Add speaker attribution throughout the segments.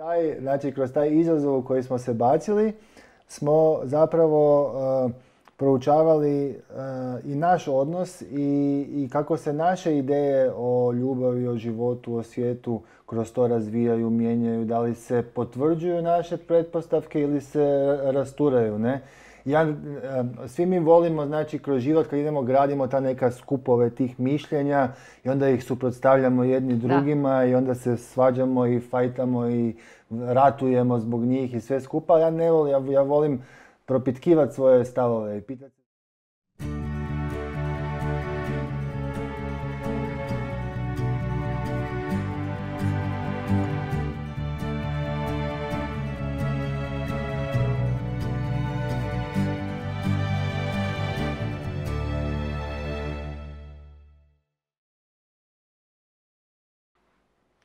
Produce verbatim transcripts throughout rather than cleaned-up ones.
Speaker 1: Taj, znači, kroz taj izazov u koji smo se bacili, smo zapravo uh, proučavali uh, i naš odnos i, i kako se naše ideje o ljubavi, o životu, o svijetu kroz to razvijaju, mijenjaju, da li se potvrđuju naše pretpostavke ili se rasturaju, ne? Ja, svi mi volimo, znači, kroz život kad idemo gradimo ta neka skupove tih mišljenja i onda ih suprotstavljamo jedni drugima da. I onda se svađamo i fajtamo i ratujemo zbog njih i sve skupa. Ja ne volim, ja, ja volim propitkivati svoje stavove i pitati.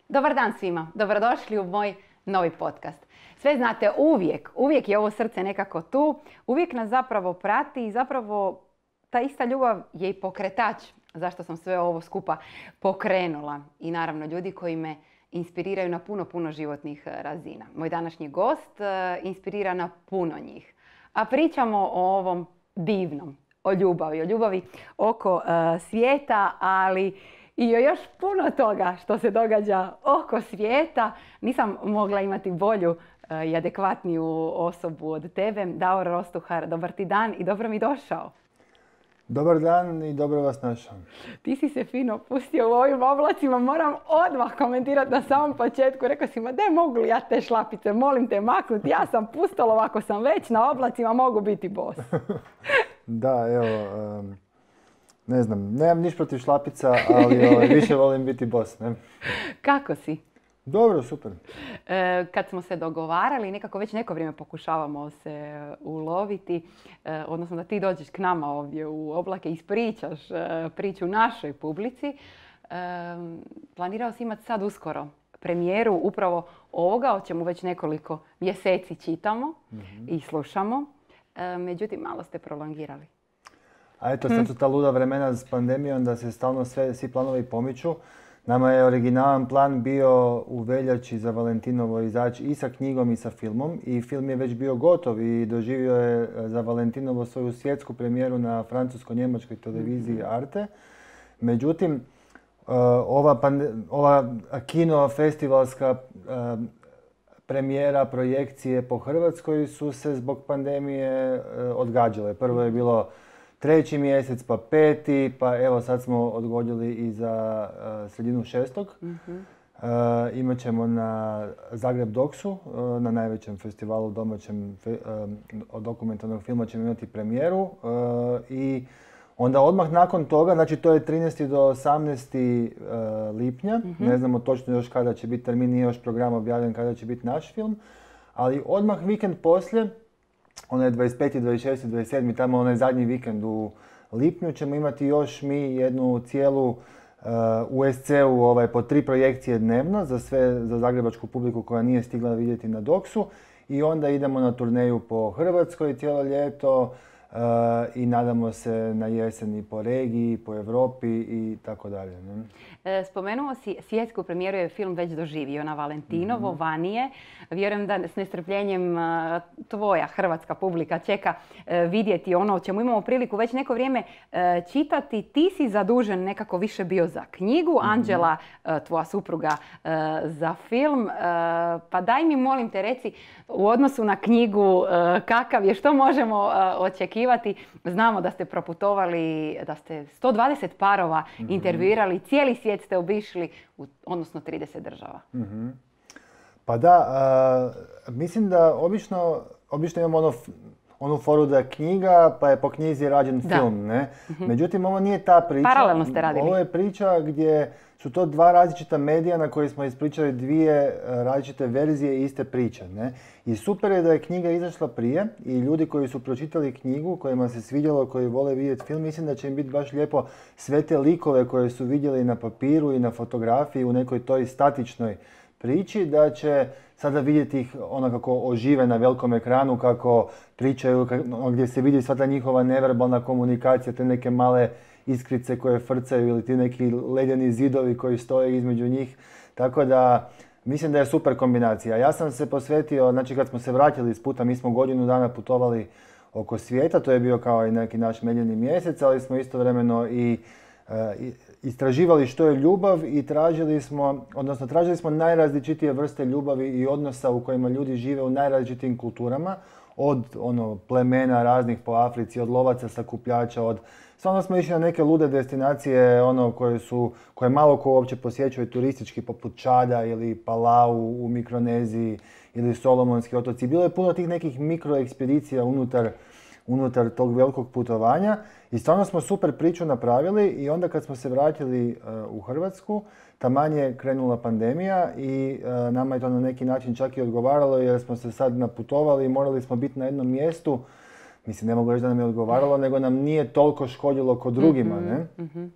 Speaker 2: Dobar dan svima, dobrodošli u moj novi podcast. Sve znate, uvijek, uvijek je ovo srce nekako tu, uvijek nas zapravo prati i zapravo ta ista ljubav je i pokretač zašto sam sve ovo skupa pokrenula. I naravno ljudi koji me inspiriraju na puno, puno životnih razina. Moj današnji gost inspirira na puno njih. A pričamo o ovom divnom, o ljubavi, o ljubavi oko uh, svijeta, ali i o još puno toga što se događa oko svijeta. Nisam mogla imati bolju uh, i adekvatniju osobu od tebe. Davor Rostuhar, dobar ti dan i dobro mi došao.
Speaker 1: Dobar dan i dobro vas našao.
Speaker 2: Ti si se fino pustio u ovim oblacima. Moram odmah komentirati na samom početku. Rekao si, ma de mogu li ja te šlapice, molim te maknuti. Ja sam pustolov, ako sam već na oblacima, mogu biti bos.
Speaker 1: Da, evo... Um... Ne znam, nemam niš protiv šlapica, ali ovaj, više volim biti bos, ne?
Speaker 2: Kako si?
Speaker 1: Dobro, super.
Speaker 2: E, kad smo se dogovarali, nekako već neko vrijeme pokušavamo se uloviti, e, odnosno da ti dođeš k nama ovdje u Oblake i ispričaš e, priču našoj publici, e, planirao si imati sad uskoro premijeru upravo ovoga, o čemu već nekoliko mjeseci čitamo mm-hmm. i slušamo. E, međutim, malo ste prolongirali.
Speaker 1: A eto, sad su ta luda vremena s pandemijom da se stalno sve, svi planovi pomiču. Nama je originalan plan bio u veljači za Valentinovo izaći i sa knjigom i sa filmom. I film je već bio gotov i doživio je za Valentinovo svoju svjetsku premijeru na francusko-njemačkoj televiziji Arte. Međutim, ova, pande- ova kino festivalska premijera, projekcije po Hrvatskoj su se zbog pandemije odgađale. Prvo je bilo treći mjesec, pa peti, pa evo sad smo odgodili i za uh, sredinu šestog. Mm-hmm. Uh, imat ćemo na Zagreb Doksu, uh, na najvećem festivalu domaćem fe, uh, dokumentarnog filma ćemo imati premijeru. Uh, I onda odmah nakon toga, znači to je trinaesti do osamnaesti lipnja, mm-hmm. ne znamo točno još kada će biti termin, nije još program objavljen kada će biti naš film, ali odmah vikend poslije, onaj dvadeset peti, dvadeset šesti, dvadeset sedmi, tamo onaj zadnji vikend u lipnju ćemo imati još mi jednu cijelu uh, u es ce-u ovaj, po tri projekcije dnevno za sve, za zagrebačku publiku koja nije stigla vidjeti na Doksu. I onda idemo na turneju po Hrvatskoj cijelo ljeto uh, i nadamo se na jesen i po regiji, po Europi i tako dalje.
Speaker 2: Spomenuo si svjetsku premijeru je film već doživio na Valentinovo, mm-hmm. Vanije. Vjerujem da s nestrpljenjem tvoja hrvatska publika čeka vidjeti ono o čemu imamo priliku već neko vrijeme čitati. Ti si zadužen nekako više bio za knjigu, mm-hmm. Anđela, tvoja supruga, za film. Pa daj mi, molim te, reci u odnosu na knjigu kakav je, što možemo očekivati. Znamo da ste proputovali, da ste sto dvadeset parova mm-hmm. intervjuirali, cijeli svijet ste obišli, u, odnosno trideset država.
Speaker 1: Mm-hmm. Pa da, uh, mislim da obično, obično imamo ono, onu foru da je knjiga, pa je po knjizi rađen da. film, ne? Mm-hmm. Međutim, ovo nije ta priča.
Speaker 2: Paralelno ste radili.
Speaker 1: Ovo je priča gdje su to dva različita medija na koji smo ispričali dvije različite verzije iste priče, ne? I super je da je knjiga izašla prije i ljudi koji su pročitali knjigu, kojima se svidjelo, koji vole vidjeti film, mislim da će im biti baš lijepo sve te likove koje su vidjeli na papiru i na fotografiji u nekoj toj statičnoj priči, da će sada vidjeti ih ono kako ožive na velikom ekranu, kako pričaju, gdje se vidi sva ta njihova neverbalna komunikacija, te neke male iskrice koje frcaju ili ti neki ledeni zidovi koji stoje između njih. Tako da Mislim da je super kombinacija. Ja sam se posvetio, znači kad smo se vratili iz puta, mi smo godinu dana putovali oko svijeta, to je bio kao i neki naš medljeni mjesec, ali smo istovremeno i i istraživali što je ljubav i tražili smo, odnosno tražili smo najrazličitije vrste ljubavi i odnosa u kojima ljudi žive u najrazličitijim kulturama, od ono plemena raznih po Africi, od lovaca, sakupljača, od stvarno smo išli na neke lude destinacije ono koje su, koje malo ko uopće posjećuje turistički, poput Čada ili Palau u Mikroneziji ili Solomonski otoci. Bilo je puno tih nekih mikroekspedicija unutar unutar tog velikog putovanja i stvarno smo super priču napravili i onda kad smo se vratili uh, u Hrvatsku, taman je krenula pandemija i uh, nama je to na neki način čak i odgovaralo jer smo se sad naputovali i morali smo biti na jednom mjestu. Mislim, ne mogu reći da nam je odgovaralo, nego nam nije toliko škodilo kod drugima, ne? Mm-hmm.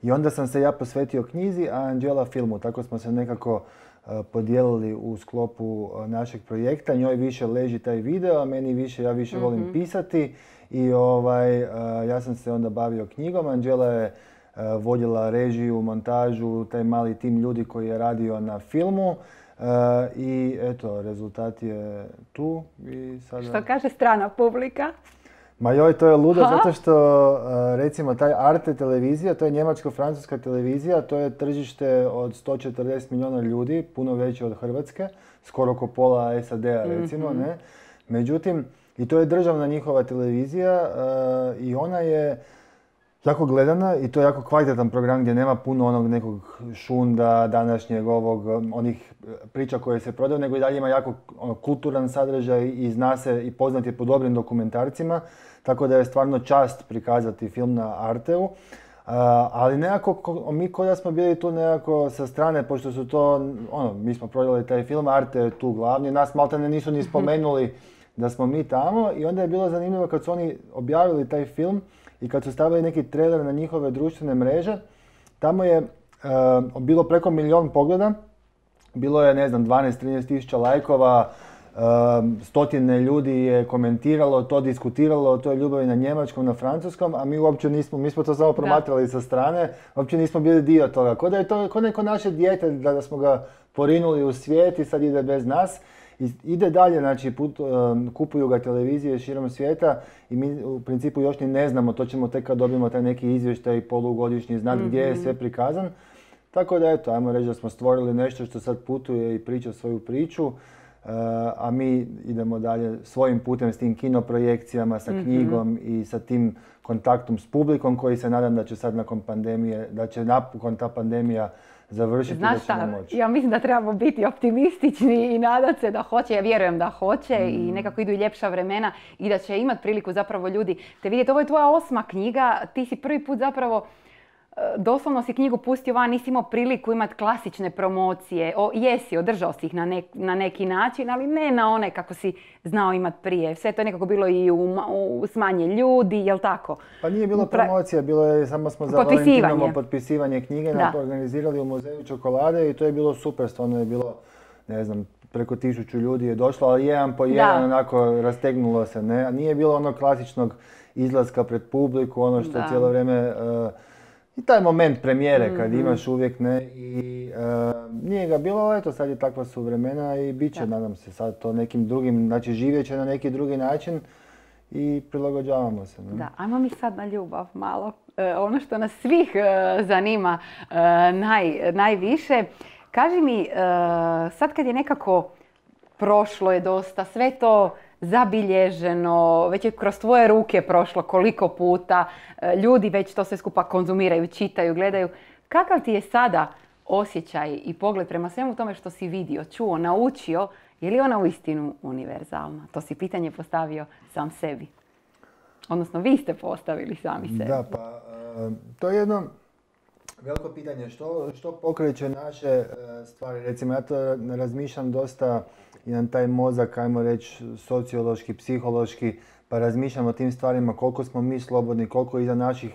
Speaker 1: I onda sam se ja posvetio knjizi, a Anđela filmu. Tako smo se nekako uh, podijelili u sklopu uh, našeg projekta. Njoj više leži taj video, a meni više, ja više mm-hmm. volim pisati. I ovaj, uh, ja sam se onda bavio knjigom. Anđela je uh, vodila režiju, montažu, taj mali tim ljudi koji je radio na filmu. Uh, I eto, rezultat je tu. I sada...
Speaker 2: Što kaže strana publika?
Speaker 1: Ma joj, to je ludo, ha? Zato što recimo taj Arte televizija, to je njemačko-francuska televizija, to je tržište od sto četrdeset milijuna ljudi, puno veće od Hrvatske, skoro oko pola S A D-a recimo, mm-hmm. ne? Međutim, i to je državna njihova televizija uh, i ona je jako gledana i to je jako kvalitetan program gdje nema puno onog nekog šunda, današnjeg ovog, onih priča koje se prodaju, nego i dalje ima jako ono, kulturan sadržaj i zna se i poznat je po dobrim dokumentarcima, tako da je stvarno čast prikazati film na Arteu. Uh, ali nekako, ko, mi kod da smo bili tu nekako sa strane, pošto su to, ono, mi smo prodali taj film, Arte je tu glavni, nas maltene nisu ni spomenuli da smo mi tamo i onda je bilo zanimljivo kad su oni objavili taj film i kad su stavili neki trailer na njihove društvene mreže, tamo je uh, bilo preko milijon pogleda, bilo je, ne znam, dvanaest do trinaest tisuća lajkova, uh, stotine ljudi je komentiralo to, diskutiralo o toj ljubavi na njemačkom, na francuskom, a mi uopće nismo, mi smo to samo promatrali da. sa strane, uopće nismo bili dio toga. Ko da je to, ko neko naše dijete, da smo ga porinuli u svijet i sad ide bez nas. I ide dalje, znači put, um, kupuju ga televizije širom svijeta i mi u principu još ni ne znamo, to ćemo tek kad dobijemo taj neki izvještaj polugodišnji znak mm-hmm. gdje je sve prikazan. Tako da eto, ajmo reći da smo stvorili nešto što sad putuje i priča svoju priču, uh, a mi idemo dalje svojim putem s tim kinoprojekcijama, sa mm-hmm. knjigom i sa tim kontaktom s publikom koji se nadam da će sad nakon pandemije, da će napokon ta pandemija završiti.
Speaker 2: Znaš šta, ja mislim da trebamo biti optimistični i nadat se da hoće, ja vjerujem da hoće mm. i nekako idu i ljepša vremena i da će imati priliku zapravo ljudi te vidjeti. Ovo je tvoja osma knjiga, ti si prvi put zapravo, doslovno si knjigu pustio van, nisi imao priliku imati klasične promocije. O, jesi, održao si ih na, nek, na neki način, ali ne na one kako si znao imati prije. Sve to je nekako bilo i u, u smanje ljudi, jel tako?
Speaker 1: Pa nije bilo promocija, bilo je, samo smo za Valentinovo potpisivanje knjige da. organizirali u Muzeju čokolade i to je bilo super, stvarno je bilo, ne znam, preko tisuću ljudi je došlo, ali jedan po jedan da. onako rastegnulo se, ne? A nije bilo onog klasičnog izlaska pred publiku, ono što da. cijelo vrijeme... Uh, I taj moment premijere kad mm-hmm. imaš uvijek, ne, i uh, nije ga bilo, ali eto sad je takva su vremena i bit će, da. nadam se, sad to nekim drugim, znači živjet će na neki drugi način i prilagođavamo se. Ne?
Speaker 2: Da, ajmo mi sad na ljubav malo, e, ono što nas svih e, zanima e, naj, najviše. Kaži mi, e, sad kad je nekako prošlo je dosta, sve to zabilježeno, već je kroz tvoje ruke prošlo koliko puta, ljudi već to sve skupa konzumiraju, čitaju, gledaju. Kakav ti je sada osjećaj i pogled prema svemu tome što si vidio, čuo, naučio, je li ona uistinu univerzalna? To si pitanje postavio sam sebi. Odnosno, vi ste postavili sami sebi.
Speaker 1: Da, pa uh, to je jedno veliko pitanje. Što, što pokreće naše uh, stvari? Recimo, ja to razmišljam dosta i na taj mozak, ajmo reći, sociološki, psihološki, pa razmišljamo o tim stvarima, koliko smo mi slobodni, koliko iza naših,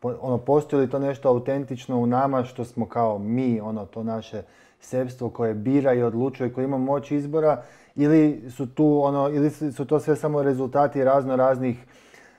Speaker 1: ono, postoji li to nešto autentično u nama što smo kao mi, ono, to naše sebstvo koje bira i odlučuje, koje ima moć izbora, ili su tu, ono, ili su to sve samo rezultati razno raznih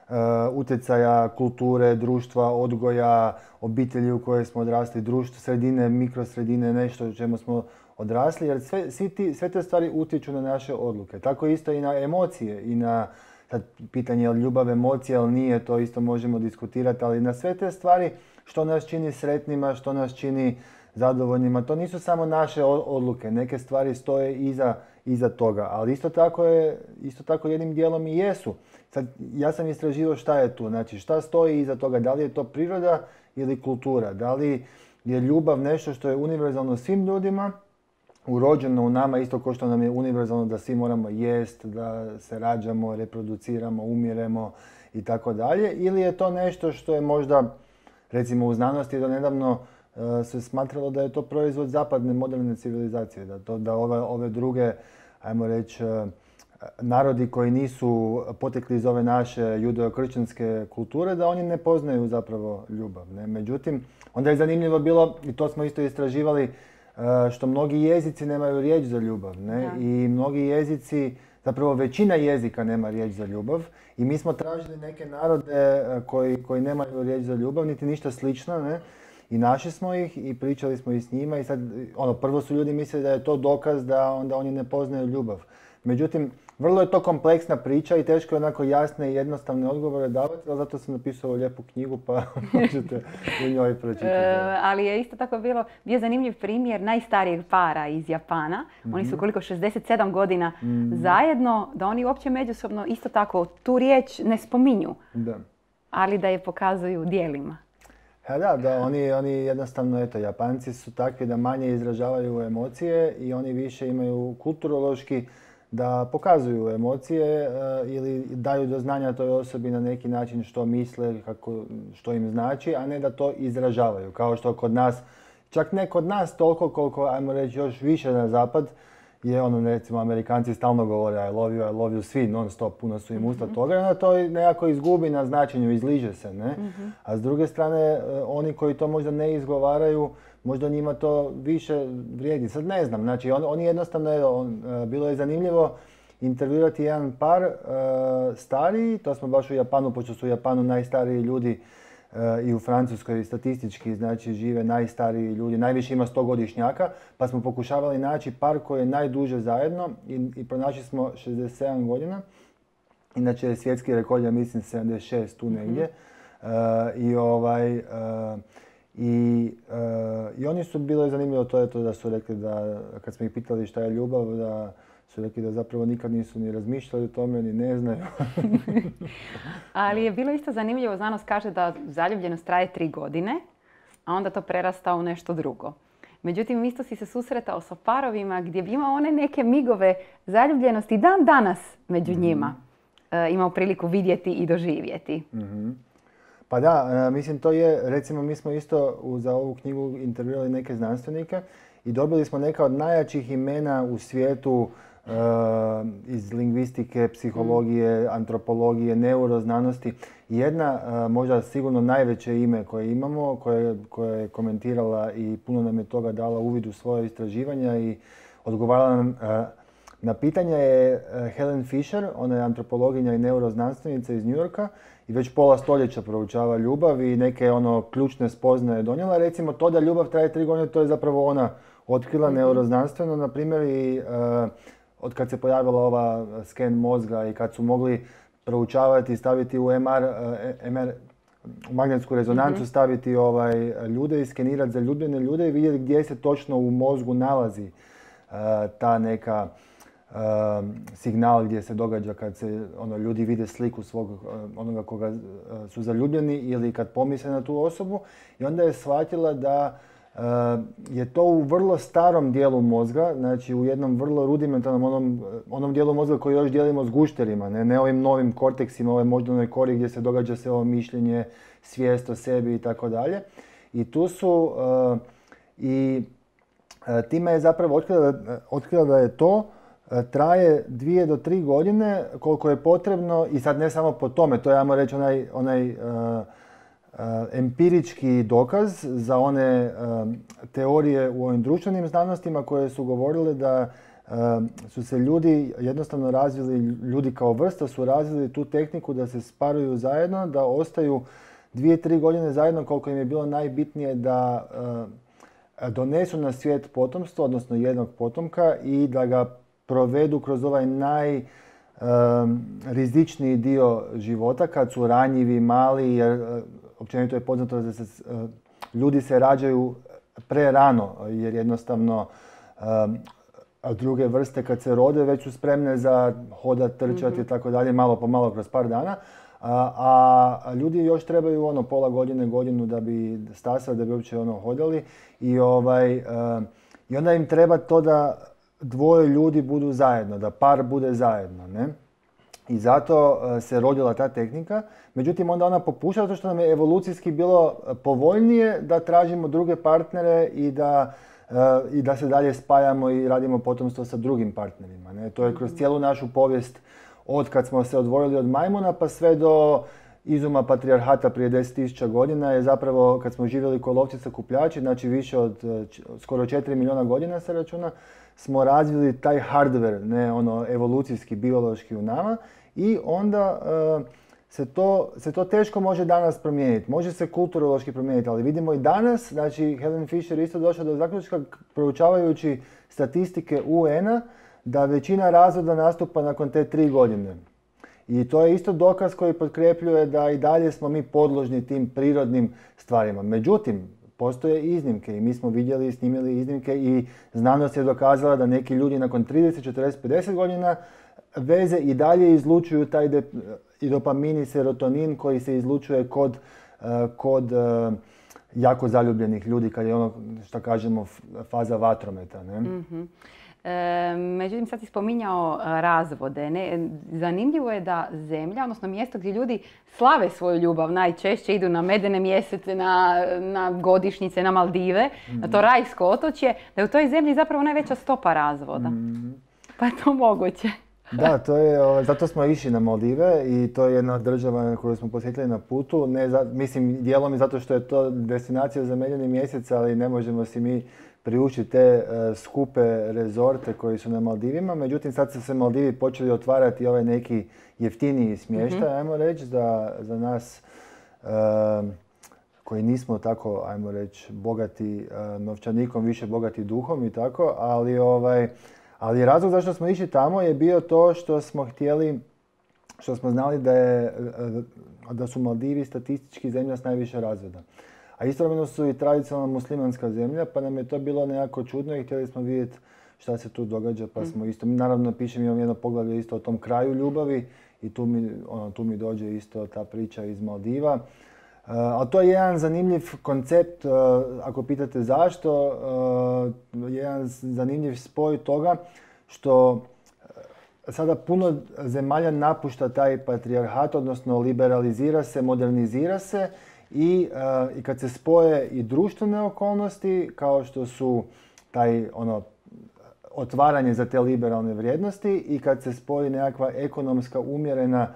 Speaker 1: uh, utjecaja, kulture, društva, odgoja, obitelji u kojoj smo odrasli, društvo, sredine, mikrosredine, nešto u čemu smo odrasli, jer sve, svi ti, sve te stvari utječu na naše odluke. Tako isto i na emocije i na sad, pitanje je li ljubav emocija ili nije, to isto možemo diskutirati, ali na sve te stvari što nas čini sretnima, što nas čini zadovoljnima, to nisu samo naše odluke, neke stvari stoje iza, iza toga, ali isto tako, je, isto tako jednim dijelom i jesu. Sad, ja sam istraživao šta je tu, znači šta stoji iza toga, da li je to priroda ili kultura, da li je ljubav nešto što je univerzalno svim ljudima, urođeno u nama, isto kao što nam je univerzalno da svi moramo jest, da se rađamo, reproduciramo, umiremo i tako dalje, ili je to nešto što je možda, recimo u znanosti do nedavno se smatralo da je to proizvod zapadne moderne civilizacije, da, to, da ove, ove druge, ajmo reći, narodi koji nisu potekli iz ove naše judeo-kršćanske kulture, da oni ne poznaju zapravo ljubav. Ne? Međutim, onda je zanimljivo bilo, i to smo isto istraživali, što mnogi jezici nemaju riječ za ljubav. Ne? I mnogi jezici, zapravo većina jezika nema riječ za ljubav. I mi smo tražili neke narode koji, koji nemaju riječ za ljubav, niti ništa slično. Ne? I našli smo ih i pričali smo i s njima. I sad, ono, prvo su ljudi mislili da je to dokaz da onda oni ne poznaju ljubav. Međutim, vrlo je to kompleksna priča i teško je onako jasne i jednostavne odgovore davati, ali zato sam napisao lijepu knjigu pa možete u njoj pročitati.
Speaker 2: E, ali je isto tako bilo, bio zanimljiv primjer najstarijeg para iz Japana. Mm-hmm. Oni su koliko šezdeset sedam godina mm-hmm. zajedno, da oni uopće međusobno isto tako tu riječ ne spominju,
Speaker 1: da.
Speaker 2: Ali da je pokazuju djelima.
Speaker 1: Ja, da, da oni, oni jednostavno, eto, Japanci su takvi da manje izražavaju emocije i oni više imaju kulturološki da pokazuju emocije uh, ili daju do znanja toj osobi na neki način što misle, kako, što im znači, a ne da to izražavaju. Kao što kod nas, čak ne kod nas toliko koliko, ajmo reći, još više na zapad, je ono, recimo, Amerikanci stalno govore I love you, I love you, svi non stop, puno su im usta toga i onda to nekako izgubi na značenju, izliže se, ne? Mm-hmm. A s druge strane, oni koji to možda ne izgovaraju, možda njima to više vrijedi. Sad ne znam, znači on, oni jednostavno, on, bilo je zanimljivo intervjuirati jedan par uh, stariji, to smo baš u Japanu, pošto su u Japanu najstariji ljudi uh, i u Francuskoj statistički, znači žive najstariji ljudi, najviše ima stogodišnjaka, pa smo pokušavali naći par koji je najduže zajedno i, i pronašli smo šezdeset sedam godina. Inače je svjetski rekord, ja mislim sedamdeset šest tu negdje. Mm-hmm. Uh, I ovaj... Uh, I, uh, I oni su, bilo je zanimljivo to, je to da su rekli da, kad smo ih pitali šta je ljubav, da su rekli da zapravo nikad nisu ni razmišljali o tome, ni ne znaju.
Speaker 2: Ali je bilo isto zanimljivo, znanost kaže da zaljubljenost traje tri godine, a onda to prerasta u nešto drugo. Međutim, isto si se susretao sa parovima gdje bi imao one neke migove zaljubljenosti dan danas među mm-hmm. njima. Uh, imao priliku vidjeti i doživjeti.
Speaker 1: Mm-hmm. Pa da, mislim to je, recimo mi smo isto za ovu knjigu intervjuirali neke znanstvenike i dobili smo neka od najjačih imena u svijetu uh, iz lingvistike, psihologije, antropologije, neuroznanosti. Jedna, uh, možda sigurno najveće ime koje imamo, koje, koje je komentirala i puno nam je toga dala uvid u svoje istraživanja i odgovarala nam uh, na pitanje je Helen Fisher, ona je antropologinja i neuroznanstvenica iz New Yorka i već pola stoljeća proučava ljubav i neke ono ključne spoznaje donijela. Recimo to da ljubav traje tri godine, to je zapravo ona otkrila mm-hmm. neuroznanstveno, na primjer, i uh, od kad se pojavila ova sken mozga i kad su mogli proučavati i staviti u M R, uh, M R u magnetsku rezonancu, mm-hmm. staviti ovaj, ljude i skenirati zaljubljene ljude i vidjeti gdje se točno u mozgu nalazi uh, ta neka Uh, signal gdje se događa kad se ono, ljudi vide sliku svog uh, onoga koga uh, su zaljubljeni ili kad pomisle na tu osobu i onda je shvatila da uh, je to u vrlo starom dijelu mozga, znači u jednom vrlo rudimentalnom onom, onom dijelu mozga koji još dijelimo s gušterima, ne, ne ovim novim korteksima, ovoj moždanoj kori gdje se događa sve ovo mišljenje, svijest o sebi i tako dalje. I tu su uh, i uh, time je zapravo otkrila, otkrila da je to traje dvije do tri godine koliko je potrebno i sad ne samo po tome, to je, ajmo reći, onaj, onaj uh, uh, empirički dokaz za one uh, teorije u ovim društvenim znanostima koje su govorile da uh, su se ljudi jednostavno razvili, ljudi kao vrsta su razvili tu tehniku da se sparuju zajedno, da ostaju dvije, tri godine zajedno koliko im je bilo najbitnije da uh, donesu na svijet potomstvo, odnosno jednog potomka i da ga provedu kroz ovaj najrizičniji dio života kad su ranjivi, mali, jer općenito je poznato da se ljudi se rađaju prerano, jer jednostavno a druge vrste kad se rode već su spremne za hodat, trčati i tako dalje, malo po malo kroz par dana. A, a ljudi još trebaju ono pola godine, godinu da bi stasali, da bi uopće ono hodali. I, ovaj, uh, I onda im treba to da dvoje ljudi budu zajedno, da par bude zajedno. Ne? I zato uh, se rodila ta tehnika. Međutim, onda ona popušta zato što nam je evolucijski bilo povoljnije da tražimo druge partnere i da, uh, i da se dalje spajamo i radimo potomstvo sa drugim partnerima. Ne? To je kroz cijelu našu povijest od kad smo se odvojili od majmuna pa sve do izuma patrijarhata prije deset tisuća godina je zapravo kad smo živjeli ko lovci sakupljači, znači više od skoro četiri milijuna godina se računa, smo razvili taj hardware, ne ono evolucijski, biološki u nama i onda uh, se, to, se to teško može danas promijeniti. Može se kulturološki promijeniti, ali vidimo i danas, znači Helen Fisher isto došla do zaključka proučavajući statistike U N-a da većina razvoda nastupa nakon te tri godine. I to je isto dokaz koji potkrepljuje da i dalje smo mi podložni tim prirodnim stvarima. Međutim, postoje iznimke i mi smo vidjeli i snimili iznimke i znanost je dokazala da neki ljudi nakon trideset, četrdeset, pedeset godina veze i dalje izlučuju taj de, i dopamin i serotonin koji se izlučuje kod, kod jako zaljubljenih ljudi kad je ono što kažemo faza vatrometa. Ne?
Speaker 2: Mm-hmm. E, međutim, sad si spominjao razvode. Ne? Zanimljivo je da zemlja, odnosno mjesto gdje ljudi slave svoju ljubav, najčešće idu na medene mjesece, na, na godišnjice, na Maldive, mm. na to rajsko otočje, da je u toj zemlji zapravo najveća stopa razvoda. Mm. Pa je to moguće.
Speaker 1: Da, to je, zato smo išli na Maldive i to je jedna država koju smo posjetili na putu. Ne za, mislim, dijelom i zato što je to destinacija za medeni mjesec, ali ne možemo si mi priučiti te uh, skupe rezorte koji su na Maldivima. Međutim, sad su se Maldivi počeli otvarati ovaj neki jeftiniji smještaj, mm-hmm. ajmo reći, za, za nas uh, koji nismo tako, ajmo reći, bogati uh, novčanikom, više bogati duhom i tako, ali, ovaj, ali razlog zašto smo išli tamo je bio to što smo htjeli, što smo znali da, je, uh, da su Maldivi statistički zemlja s najviše razvoda. A istovremeno su i tradicionalna muslimanska zemlja, pa nam je to bilo nekako čudno i htjeli smo vidjeti šta se tu događa, pa smo isto, naravno pišem, imam jedno poglavlje isto o tom kraju ljubavi i tu mi, ono, tu mi dođe isto ta priča iz Maldiva. Uh, ali to je jedan zanimljiv koncept, uh, ako pitate zašto, uh, jedan zanimljiv spoj toga što sada puno zemalja napušta taj patrijarhat, odnosno liberalizira se, modernizira se. I, uh, I kad se spoje i društvene okolnosti, kao što su taj ono, otvaranje za te liberalne vrijednosti i kad se spoji nekakva ekonomska umjerena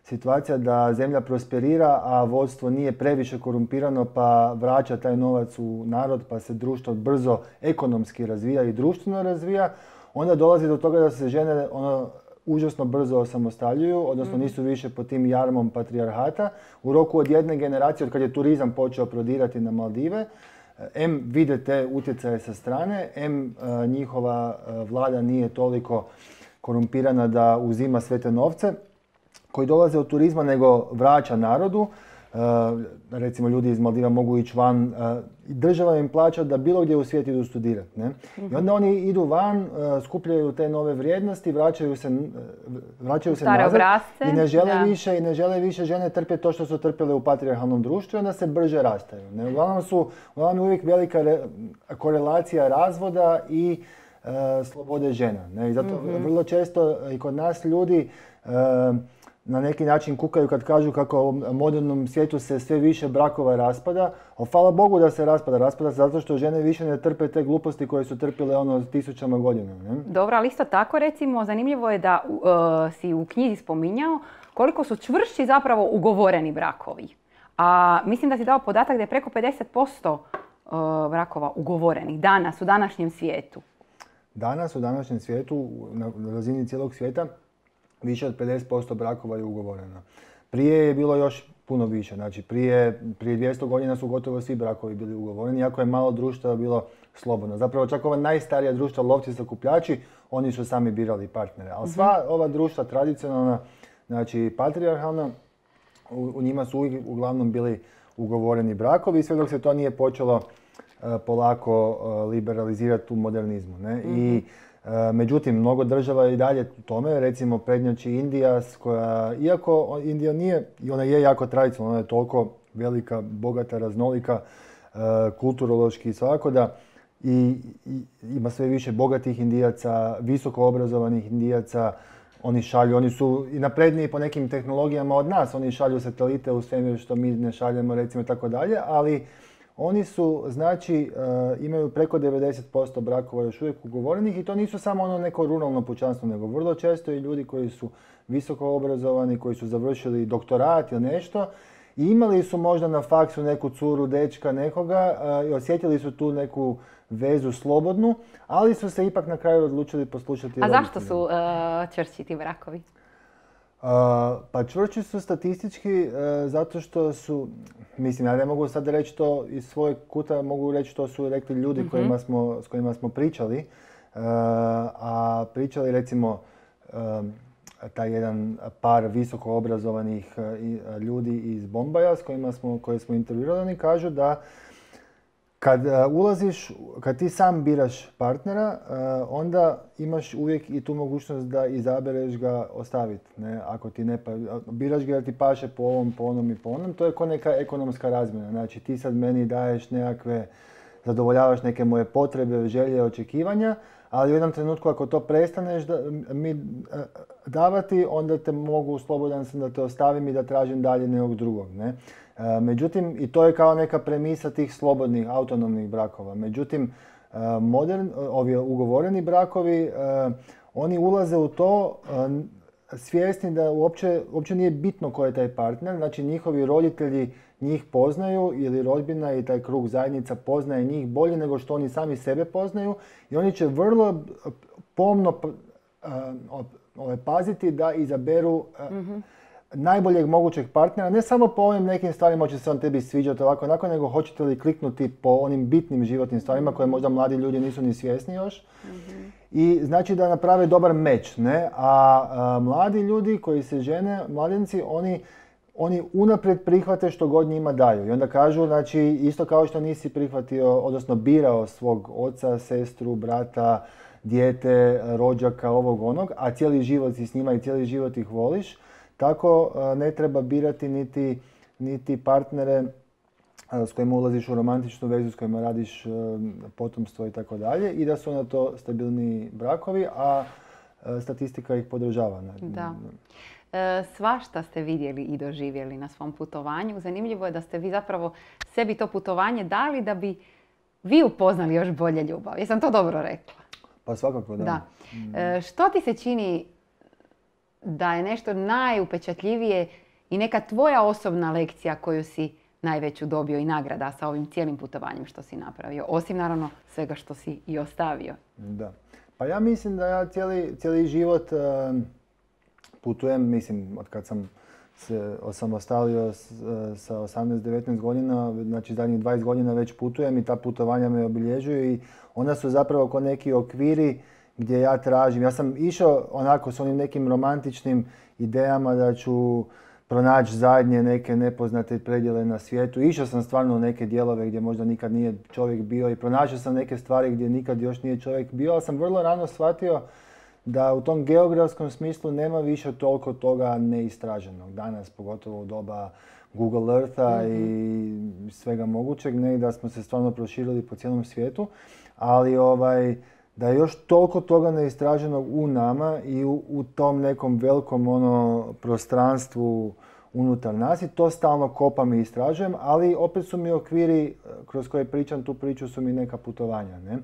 Speaker 1: situacija da zemlja prosperira, a vodstvo nije previše korumpirano pa vraća taj novac u narod pa se društvo brzo ekonomski razvija i društveno razvija, onda dolazi do toga da se žene ono, užasno brzo osamostaljuju, odnosno nisu više pod tim jarmom patrijarhata. U roku od jedne generacije, od kad je turizam počeo prodirati na Maldive, em vide te utjecaje sa strane, em njihova vlada nije toliko korumpirana da uzima sve te novce koji dolaze od turizma, nego vraća narodu. Uh, recimo ljudi iz Maldiva mogu ići van, uh, država im plaća da bilo gdje u svijetu idu studirati. Ne? Mm-hmm. I onda oni idu van, uh, skupljaju te nove vrijednosti, vraćaju se, uh, vraćaju se nazad
Speaker 2: obrazce,
Speaker 1: i ne žele
Speaker 2: da.
Speaker 1: više i ne žele više žene trpjeti to što su trpjele u patrijarhalnom društvu i onda se brže rastaju. Ne? Uglavnom su uglavnom uvijek velika re, korelacija razvoda i uh, slobode žena. Ne? I zato mm-hmm. vrlo često i kod nas ljudi uh, na neki način kukaju kad kažu kako u modernom svijetu se sve više brakova raspada, ali hvala Bogu da se raspada. Raspada se zato što žene više ne trpe te gluposti koje su trpile ono tisućama godina. Ne?
Speaker 2: Dobro, ali isto tako recimo zanimljivo je da uh, si u knjizi spominjao koliko su čvršći zapravo ugovoreni brakovi. A mislim da si dao podatak da je preko pedeset posto uh, brakova ugovorenih danas u današnjem svijetu.
Speaker 1: Danas u današnjem svijetu, na razini cijelog svijeta, više od pedeset posto brakova je ugovoreno. Prije je bilo još puno više. Znači prije, prije dvjesto godina su gotovo svi brakovi bili ugovoreni, iako je malo društva bilo slobodno. Zapravo čak ova najstarija društva, lovci sakupljači, oni su sami birali partnere. Ali sva mm-hmm. ova društva tradicionalna, znači patrijarhalna, u, u njima su uvijek uglavnom bili ugovoreni brakovi, sve dok se to nije počelo uh, polako uh, liberalizirati u modernizmu. Ne? Mm-hmm. I uh, međutim, mnogo država je i dalje u tome, recimo prednjači Indija, koja, iako Indija nije, i ona je jako tradicionalna, ona je toliko velika, bogata, raznolika, uh, kulturološki i svako da i, i ima sve više bogatih Indijaca, visoko obrazovanih Indijaca. Oni šalju, oni su i napredniji po nekim tehnologijama od nas, oni šalju satelite u svemir što mi ne šaljemo, recimo, i tako dalje, ali oni su, znači, uh, imaju preko devedeset posto brakova još uvijek ugovorenih i to nisu samo ono neko ruralno pučanstvo, nego vrlo često i ljudi koji su visoko obrazovani, koji su završili doktorat ili nešto i imali su možda na faksu neku curu, dečka, nekoga uh, i osjetili su tu neku vezu slobodnu, ali su se ipak na kraju odlučili poslušati
Speaker 2: A
Speaker 1: roditelje.
Speaker 2: zašto su uh, čvršći ti brakovi?
Speaker 1: Uh, pa čvršći su statistički uh, zato što su, mislim, ja ne mogu sad reći to iz svojeg kuta, mogu reći što su rekli ljudi mm-hmm. kojima smo, s kojima smo pričali. Uh, a pričali recimo um, taj jedan par visoko obrazovanih uh, ljudi iz Bombaja s kojima smo, koje smo intervjuirali, oni kažu da kad uh, ulaziš, kad ti sam biraš partnera, uh, onda imaš uvijek i tu mogućnost da izabereš ga ostaviti. Ne? Ako ti ne pa, biraš ga jer ti paše po ovom, po onom i po onom, to je kao neka ekonomska razmjena. Znači ti sad meni daješ nekakve, zadovoljavaš neke moje potrebe, želje, očekivanja, ali u jednom trenutku ako to prestaneš da, mi uh, davati, onda te mogu, slobodan sam da te ostavim i da tražim dalje nekog drugog. Ne? Međutim, i to je kao neka premisa tih slobodnih, autonomnih brakova. Međutim, modern, ovi ugovoreni brakovi, oni ulaze u to svjesni da uopće, uopće nije bitno ko je taj partner. Znači, njihovi roditelji njih poznaju ili rodbina i taj krug zajednica poznaje njih bolje nego što oni sami sebe poznaju i oni će vrlo pomno paziti da izaberu mm-hmm. najboljeg mogućeg partnera, ne samo po ovim nekim stvarima će se on tebi sviđati ovako onako, nego hoćete li kliknuti po onim bitnim životnim stvarima koje možda mladi ljudi nisu ni svjesni još. Mm-hmm. I znači da naprave dobar meč, ne? A, a mladi ljudi koji se žene, mladenci, oni, oni unaprijed prihvate što god njima daju. I onda kažu, znači, isto kao što nisi prihvatio, odnosno birao svog oca, sestru, brata, dijete, rođaka, ovog onog, a cijeli život si s njima i cijeli život ih voliš, tako ne treba birati niti, niti partnere s kojima ulaziš u romantičnu vezu, s kojima radiš potomstvo i tako dalje i da su na to stabilni brakovi, a statistika ih podržava.
Speaker 2: Da. E, svašta ste vidjeli i doživjeli na svom putovanju. Zanimljivo je da ste vi zapravo sebi to putovanje dali da bi vi upoznali još bolje ljubav. Jesam to dobro rekla?
Speaker 1: Pa svakako da.
Speaker 2: Da. E, što ti se čini da je nešto najupečatljivije i neka tvoja osobna lekcija koju si najveću dobio i nagrada sa ovim cijelim putovanjem što si napravio, osim naravno svega što si i ostavio?
Speaker 1: Da. Pa ja mislim da ja cijeli, cijeli život uh, putujem, mislim, od kad sam se osamostalio s, uh, sa osamnaest devetnaest godina, znači zadnjih dvadeset godina već putujem i ta putovanja me obilježuju i ona su zapravo kao neki okviri gdje ja tražim. Ja sam išao onako s onim nekim romantičnim idejama da ću pronaći zadnje neke nepoznate predjele na svijetu. Išao sam stvarno u neke dijelove gdje možda nikad nije čovjek bio i pronašao sam neke stvari gdje nikad još nije čovjek bio, ali sam vrlo rano shvatio da u tom geografskom smislu nema više toliko toga neistraženog. Danas, pogotovo u doba Google Eartha mm-hmm. i svega mogućeg, ne, da smo se stvarno proširili po cijelom svijetu, ali ovaj, da je još toliko toga neistraženog u nama i u, u tom nekom velikom ono, prostranstvu unutar nas i to stalno kopam i istražujem, ali opet su mi okviri kroz koje pričam tu priču su mi neka putovanja. Ne?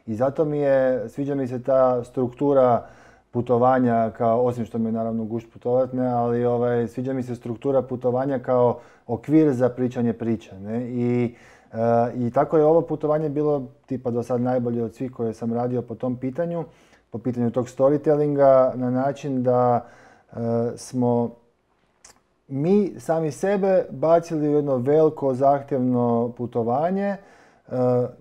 Speaker 1: I zato mi je, sviđa mi se ta struktura putovanja, kao, osim što mi je naravno gušt putovat, ne, ali ovaj, sviđa mi se struktura putovanja kao okvir za pričanje priče. Ne? I Uh, I tako je ovo putovanje bilo tipa do sad najbolje od svih koje sam radio po tom pitanju, po pitanju tog storytellinga na način da uh, smo mi sami sebe bacili u jedno veliko zahtjevno putovanje uh,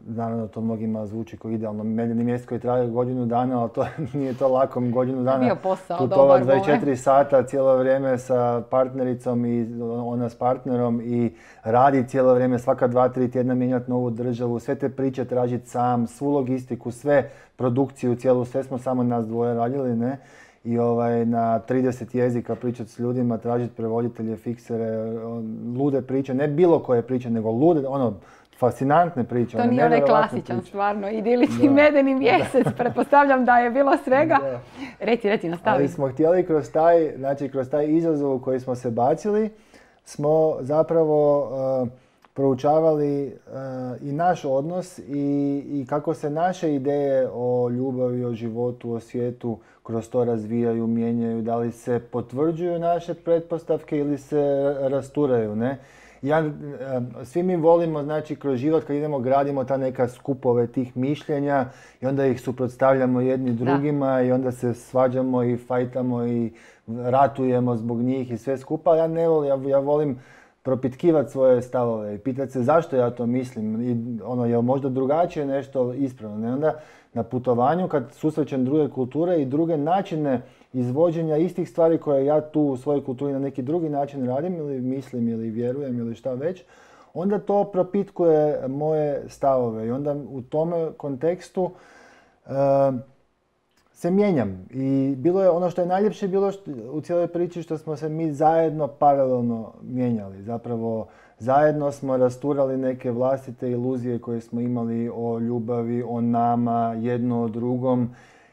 Speaker 1: naravno, to mnogima zvuči kao idealno. Meljeni mjesec koji traje godinu dana, ali to nije to lako godinu dana.
Speaker 2: Bio posao,
Speaker 1: putovati dvadeset četiri sata cijelo vrijeme sa partnericom i ona s partnerom i radi cijelo vrijeme, svaka dva, tri tjedna mijenjati novu državu, sve te priče tražiti sam, svu logistiku, sve produkciju cijelu, sve smo samo nas dvoje radili, ne? I ovaj, na trideset jezika pričati s ljudima, tražiti prevoditelje, fiksere, lude priče, ne bilo koje priče, nego lude, ono, fascinantne priče.
Speaker 2: To nije onaj klasičan, priče. Stvarno, idilični medeni mjesec, pretpostavljam da je bilo svega. Da. Reci, reci, nastavi.
Speaker 1: Ali smo htjeli kroz taj, znači kroz taj izazov u koji smo se bacili, smo zapravo uh, proučavali uh, i naš odnos i, i kako se naše ideje o ljubavi, o životu, o svijetu kroz to razvijaju, mijenjaju, da li se potvrđuju naše pretpostavke ili se rasturaju, ne? Ja, svi mi volimo, znači, kroz život kad idemo gradimo ta neka skupove tih mišljenja i onda ih suprotstavljamo jedni drugima da. I onda se svađamo i fajtamo i ratujemo zbog njih i sve skupa. Ja ne volim, ja, ja volim propitkivati svoje stavove i pitati se zašto ja to mislim i ono, je možda drugačije nešto ispravno. Ne? Onda na putovanju kad susrećem druge kulture i druge načine izvođenja istih stvari koje ja tu u svojoj kulturi na neki drugi način radim ili mislim ili vjerujem ili šta već, onda to propitkuje moje stavove i onda u tome kontekstu uh, se mijenjam. I bilo je ono što je najljepše bilo što, u cijeloj priči što smo se mi zajedno paralelno mijenjali. Zapravo zajedno smo rasturali neke vlastite iluzije koje smo imali o ljubavi, o nama, jedno o drugom.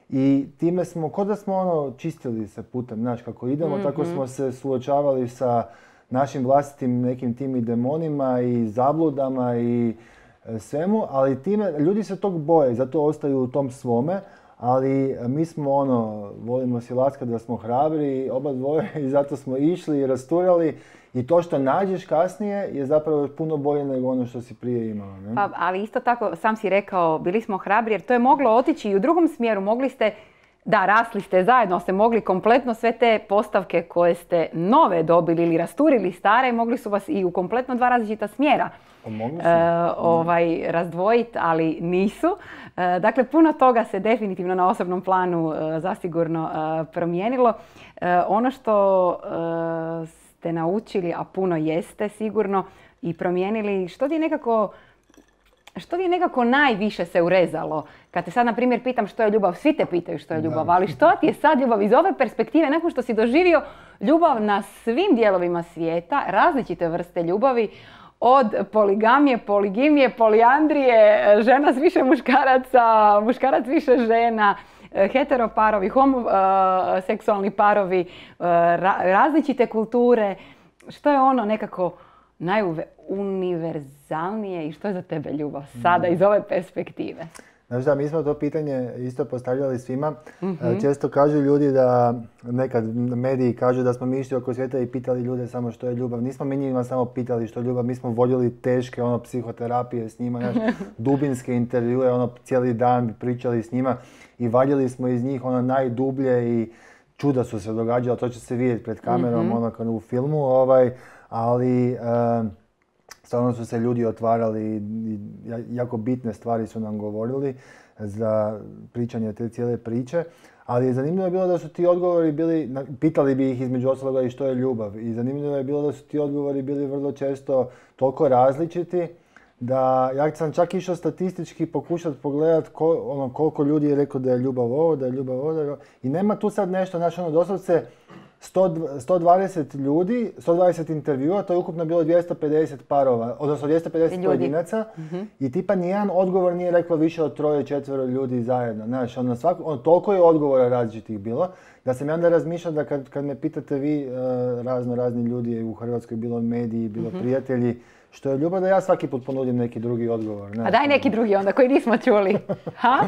Speaker 1: I time smo, kod da smo ono čistili se putem, znaš, kako idemo, mm-hmm. tako smo se suočavali sa našim vlastitim nekim tim i demonima i zabludama i e, svemu, ali time, ljudi se tog boje, zato ostaju u tom svome, ali mi smo ono, volimo si laskati da smo hrabri, oba dvoje, i zato smo išli i rasturali. I to što nađeš kasnije je zapravo puno bolje nego ono što si prije imala. Ne?
Speaker 2: Pa, ali isto tako, sam si rekao, bili smo hrabri jer to je moglo otići i u drugom smjeru. Mogli ste, da, rasli ste zajedno, ste mogli kompletno sve te postavke koje ste nove dobili ili rasturili stare, mogli su vas i u kompletno dva različita smjera
Speaker 1: e,
Speaker 2: ovaj, razdvojiti, ali nisu. E, dakle, puno toga se definitivno na osobnom planu e, zasigurno e, promijenilo. E, ono što e, ste naučili, a puno jeste sigurno, i promijenili, što ti je nekako, što ti je nekako najviše se urezalo? Kad te sad, na primjer, pitam što je ljubav, svi te pitaju što je ljubav, ali što ti je sad ljubav iz ove perspektive, nakon što si doživio ljubav na svim dijelovima svijeta, različite vrste ljubavi, od poligamije, poligimije, polijandrije, žena s više muškaraca, muškarac više žena, heteroparovi, homoseksualni parovi, različite kulture. Što je ono nekako najuniverzalnije i što je za tebe ljubav sada iz ove perspektive?
Speaker 1: Znaš da, mi smo to pitanje isto postavljali svima. Mm-hmm. Često kažu ljudi da, nekad mediji kažu da smo mi išli oko svijeta i pitali ljude samo što je ljubav. Nismo mi njima samo pitali što je ljubav, mi smo voljeli teške ono, psihoterapije s njima, naš, dubinske intervjue, ono, cijeli dan pričali s njima i valjali smo iz njih ono najdublje i čuda su se događala, to će se vidjeti pred kamerom, mm-hmm. ono kao u filmu, ovaj, ali uh, stvarno su se ljudi otvarali i jako bitne stvari su nam govorili za pričanje te cijele priče. Ali zanimljivo je bilo da su ti odgovori bili, pitali bi ih između ostaloga i što je ljubav. I zanimljivo je bilo da su ti odgovori bili vrlo često toliko različiti da ja sam čak išao statistički pokušati pogledati kol, ono, koliko ljudi je rekao da je ljubav ovo, da je ljubav ovo. Da je... I nema tu sad nešto, znači ono doslovce sto dvadeset ljudi, sto dvadeset intervjua, to je ukupno bilo dvjesto pedeset parova, odnosno dvjesto pedeset pojedinaca. Mm-hmm. I tipa nijedan odgovor nije rekao više od troje, četvero ljudi zajedno. Znaš, ono, svako, ono, toliko je odgovora različitih bilo, da sam ja onda razmišljao da kad, kad me pitate vi, uh, razno razni ljudi u Hrvatskoj, bilo mediji, bilo mm-hmm. prijatelji, što je ljubav, da ja svaki put ponudim neki drugi odgovor. Znaš,
Speaker 2: a daj neki drugi onda koji nismo čuli. Ha?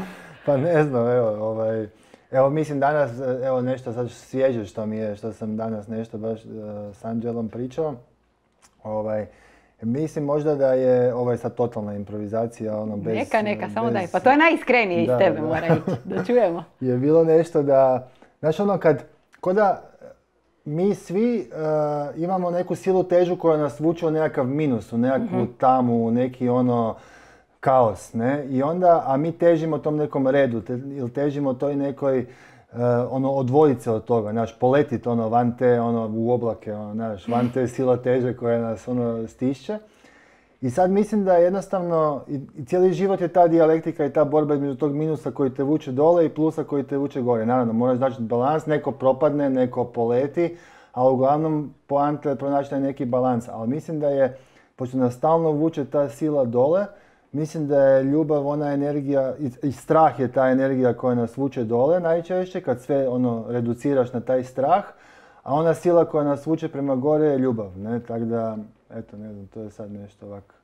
Speaker 1: Pa ne znam, evo, ovaj... Evo, mislim danas, evo nešto sad svježe što mi je, što sam danas nešto baš uh, s Anđelom pričao. Ovaj, mislim možda da je, ovo je sad totalna improvizacija, ono bez...
Speaker 2: Neka, neka, bez, samo daj, pa to je najiskrenije iz tebe, da. Mora ići, da čujemo.
Speaker 1: Je bilo nešto da, znaš ono kad, ko da mi svi uh, imamo neku silu težu koja nas vuče u nekakav minus, u nekakvu mm-hmm. tamu, u neki ono... kaos, ne? I onda, a mi težimo tom nekom redu, te, ili težimo toj nekoj, uh, ono, odvojiti se od toga, znaš, poletit ono van te, ono, u oblake, ono, znaš, van te sila teže koja nas, ono, stišće. I sad mislim da jednostavno, i, i cijeli život je ta dijalektika i ta borba između tog minusa koji te vuče dole i plusa koji te vuče gore. Naravno, moraš naći balans, neko propadne, neko poleti, ali uglavnom poanta je pronaći taj neki balans. Ali mislim da je, pošto nas stalno vuče ta sila dole, mislim da je ljubav ona energija, i, i strah je ta energija koja nas vuče dole najčešće, kad sve ono reduciraš na taj strah, a ona sila koja nas vuče prema gore je ljubav, ne? Tako da, eto, ne znam, to je sad nešto ovako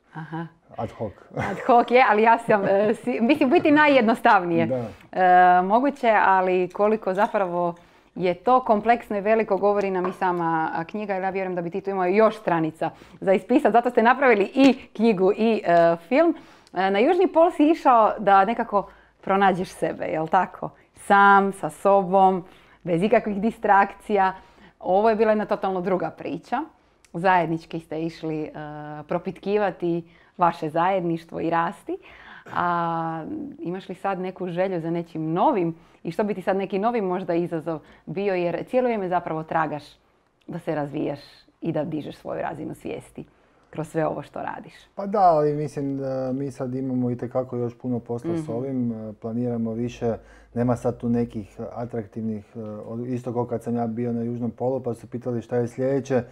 Speaker 1: ad hoc.
Speaker 2: Ad hoc je, ali ja sam, e, si, mislim, biti najjednostavnije. Da. E, moguće, ali koliko zapravo je to kompleksno i veliko, govori nam i sama knjiga, jer ja vjerujem da bi ti tu imao još stranica za ispisati. Zato ste napravili i knjigu i e, film. E, na Južni pol si išao da nekako pronađeš sebe, jel tako? Sam, sa sobom, bez ikakvih distrakcija. Ovo je bila jedna totalno druga priča. Zajednički ste išli e, propitkivati vaše zajedništvo i rasti. A imaš li sad neku želju za nečim novim i što bi ti sad neki novi možda izazov bio, jer cijelo vrijeme zapravo tragaš da se razvijaš i da dižeš svoju razinu svijesti kroz sve ovo što radiš?
Speaker 1: Pa da, ali mislim da mi sad imamo itekako još puno posla mm-hmm. s ovim, planiramo više, nema sad tu nekih atraktivnih, isto kao kad sam ja bio na Južnom polu pa su pitali šta je sljedeće.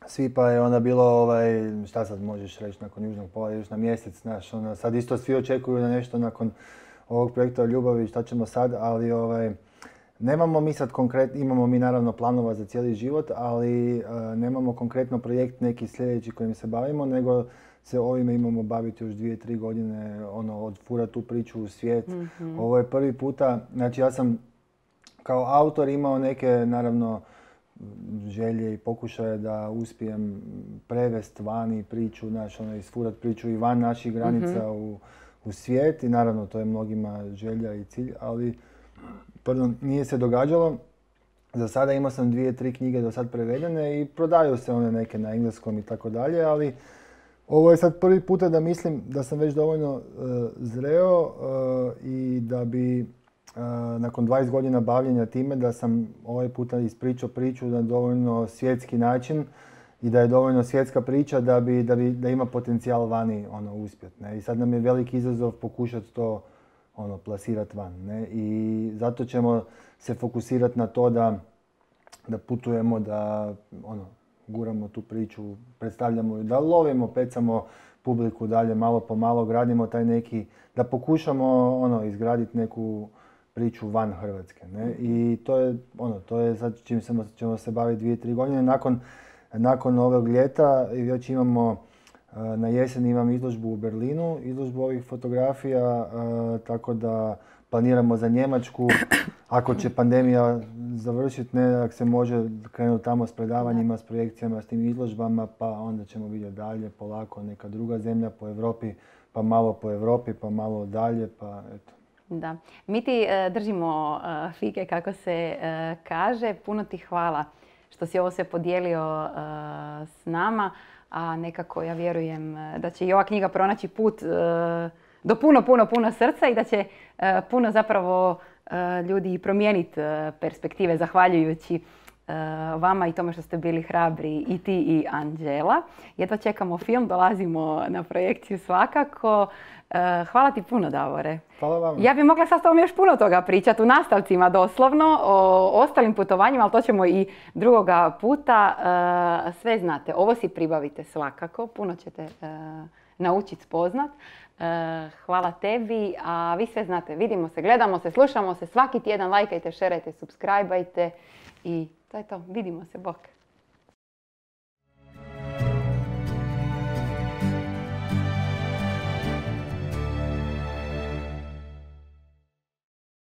Speaker 1: Svi pa je onda bilo, ovaj, šta sad možeš reći nakon Južnog pola, još na mjesec, znaš, ono, sad isto svi očekuju na nešto nakon ovog projekta o ljubavi, šta ćemo sad, ali ovaj, nemamo mi sad konkretno, imamo mi naravno planova za cijeli život, ali uh, nemamo konkretno projekt neki sljedeći kojim se bavimo, nego se ovime imamo baviti još dvije, tri godine, ono, odfurati tu priču u svijet. Mm-hmm. Ovo je prvi puta, znači ja sam kao autor imao neke, naravno, želje i pokušaje da uspijem prevest vani priču, znaš, ono, isfurat priču i van naših granica mm-hmm. u, u svijet i naravno to je mnogima želja i cilj, ali pardon, nije se događalo. Za sada imao sam dvije, tri knjige do sad prevedene i prodaju se one neke na engleskom i tako dalje, ali ovo je sad prvi puta da mislim da sam već dovoljno uh, zreo uh, i da bi Uh, nakon dvadeset godina bavljenja time da sam ovaj puta ispričao priču na dovoljno svjetski način i da je dovoljno svjetska priča da, bi, da, bi, da ima potencijal vani ono, uspjet. Ne? I sad nam je veliki izazov pokušati to ono, plasirati van. Ne? I zato ćemo se fokusirati na to da, da putujemo, da ono, guramo tu priču, predstavljamo ju, da lovimo, pecamo publiku dalje malo po malo, gradimo taj neki, da pokušamo ono, izgraditi neku priču van Hrvatske. Ne? I to je, ono, to je sad čim ćemo, ćemo se baviti dvije, tri godine. Nakon, nakon ovog ljeta već imamo, na jesen imam izložbu u Berlinu, izložbu ovih fotografija, tako da planiramo za Njemačku. Ako će pandemija završiti, ne, ako se može krenuti tamo s predavanjima, s projekcijama, s tim izložbama, pa onda ćemo vidjeti dalje, polako neka druga zemlja po Europi, pa malo po Europi, pa malo dalje, pa eto.
Speaker 2: Da. Mi ti uh, držimo uh, fige, kako se uh, kaže. Puno ti hvala što si ovo sve podijelio uh, s nama, a nekako ja vjerujem da će i ova knjiga pronaći put uh, do puno, puno, puno srca i da će uh, puno zapravo uh, ljudi promijeniti uh, perspektive zahvaljujući uh, vama i tome što ste bili hrabri i ti i Anđela. Jedva čekamo film, dolazimo na projekciju svakako. Hvala ti puno, Davore.
Speaker 1: Hvala vam.
Speaker 2: Ja bih mogla sad s tobom još puno toga pričati u nastavcima doslovno, o ostalim putovanjima, ali to ćemo i drugoga puta. Sve znate, ovo si pribavite svakako, puno ćete naučiti spoznat. Hvala tebi, a vi sve znate, vidimo se, gledamo se, slušamo se svaki tjedan, lajkajte, šerajte, subscribeajte i to je to. Vidimo se, bok.